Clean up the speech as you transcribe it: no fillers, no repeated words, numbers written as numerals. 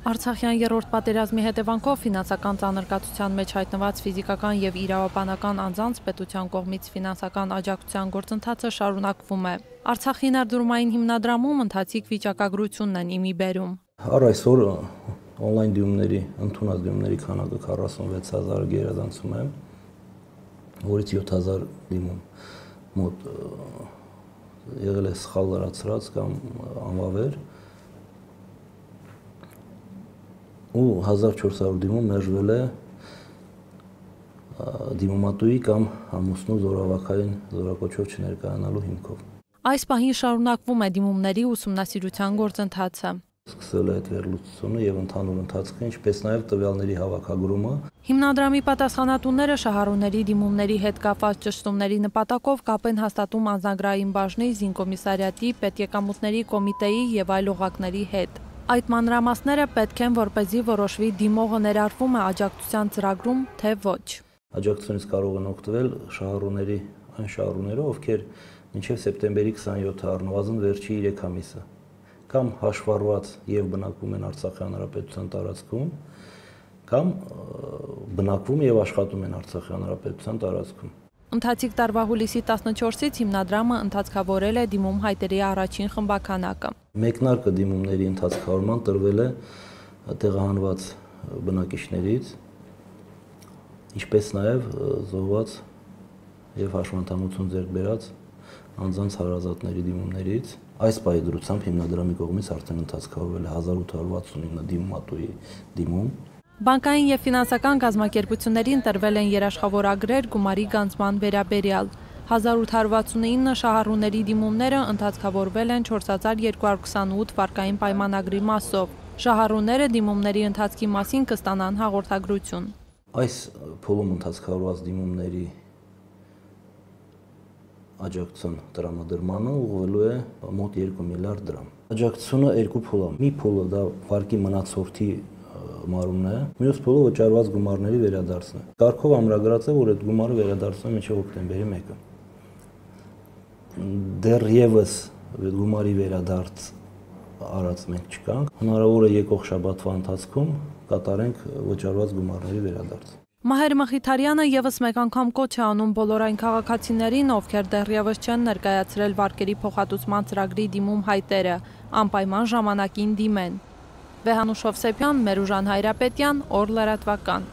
Արցախյան երրորդ պատերազմի հետևանքով ֆինանսական ծանրկացության մեջ հայտնված ֆիզիկական և իրավաբանական անձանց պետության կողմից ֆինանսական աջակցության գործընթացը շարունակվում է։ Արցախի ներդրումային հիմնադրամում ընթացիկ վիճակագրությունն են իմի բերում։ Առ այսօր օնլայն դիմումների, ընդունած դիմումների քանակը 46000 գերազանցում է, որից 7000 դիմում մոտ եղել է սխալ լրացրած կամ անվավեր, ու 1400 դիմում մերժվել է դիմումատուի կամ ամուսնու զորավարքային զորակոչով չներկայանալու հիմքով։ Այս պահին շարունակվում է դիմումների ուսումնասիրության գործընթացը։ Սկսել է այդ վերլուծությունը եւ ընդհանուր ընթացքը, ինչպես նաեւ տվյալների հավաքագրումը։ Հիմնադրամի պատասխանատուները շահառուների դիմումների հետ կապված ճշտումների նպատակով կապ են հաստատում անձնագրային բաժնի, զինկոմիսարիատի, պետեկամուտների կոմիտեի եւ այլ օղակների հետ։ Այդ մանրամասները պետք են, որպեսզի որոշվի դիմողը ներառվում է աջակցության ծրագրում, թե ոչ։ Աջակցությունից կարող են օգտվել շահառուների այն շահառուները, ովքեր մինչև սեպտեմբերի 27-ը առնվազն վերջի 3 ամիսը կամ հաշվառված եւ բնակվում են Արցախի Հանրապետության տարածքում, կամ բնակվում եւ աշխատում են Արցախի Հանրապետության տարածքում։ Ընթացիկ տարվա հուլիսի 14-ից հիմնադրամը ընթացքավորել է դիմում հայտերի առաջին խմբականակը։ Մեկնարկը դիմումների ընթացքավորման տրվել է տեղահանված բնակիչներից, ինչպես նաեւ զոհված եւ հաշվանդամություն ձեռք բերած անձանց հարազատների դիմումներից։ Այս պահի դրությամբ հիմնադրամի կողմից արդեն ընթացքավորվել է 1869 դիմումատուի դիմում։ Բանկային և ֆինանսական կազմակերպություններին տրվել են երաշխավորագրեր գումարի գանձման վերաբերյալ։ 1869 շահառուների դիմումները ընթացքավորվել են 4228 վարկային պայմանագրի մասով։ Շահառուները դիմումների ընթացքի մասին կստանան հաղորդագրություն։ Այս փուլում ընթացքավորված դիմումների աջակցության տրամադրմանը ուղղվելու է մոտ 2 միլիարդ դրամ։ Աջակցությունը երկու փուլ է։ Մի փուլը դա վարկի մնացորդի մարումն է, մյուս փուլը վճարված գումարների վերադարձն է։ Կարգով ամրագրած է, որ այդ գումարը վերադարձվում է մինչև հոկտեմբերի 1-ը։ Դեռևս այդ գումարի վերադարձ արած մենք չկանք։ Հնարավոր է եկող շաբաթվա ընթացքում կատարենք վճարված գումարների վերադարձ։ Մահեր Մխիթարյանը եւս մեկ անգամ կոչ է անում բոլոր այն քաղաքացիներին, ովքեր դեռևս չեն ներկայացրել վարկերի փոխհատուցման ծրագրի դիմում հայտերը, անպայման ժամանակին դիմեն։ Վեհանուշ Հովսեփյան, Մերուժան Հայրապետյան, Օր լրատվական։